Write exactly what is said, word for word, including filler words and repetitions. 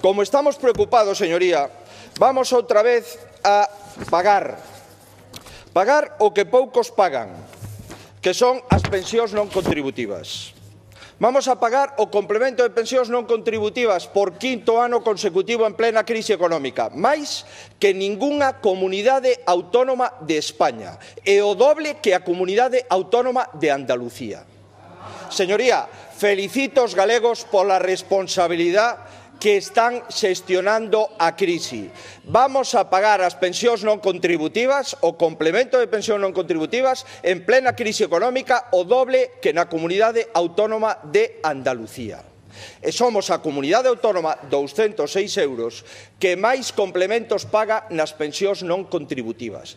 como estamos preocupados, señoría, vamos outra vez a pagar. Pagar o que poucos pagan, que son as pensións non contributivas. Vamos a pagar o complemento de pensións non contributivas por quinto ano consecutivo en plena crise económica, máis que ningunha comunidade autónoma de España e o doble que a comunidade autónoma de Andalucía. Señoría, felicito aos galegos pola responsabilidade que están xestionando a crise. Vamos a pagar as pensións non contributivas, o complemento de pensións non contributivas, en plena crise económica, o doble que na comunidade autónoma de Andalucía. E somos a comunidade autónoma douscentos seis euros que máis complementos paga nas pensións non contributivas.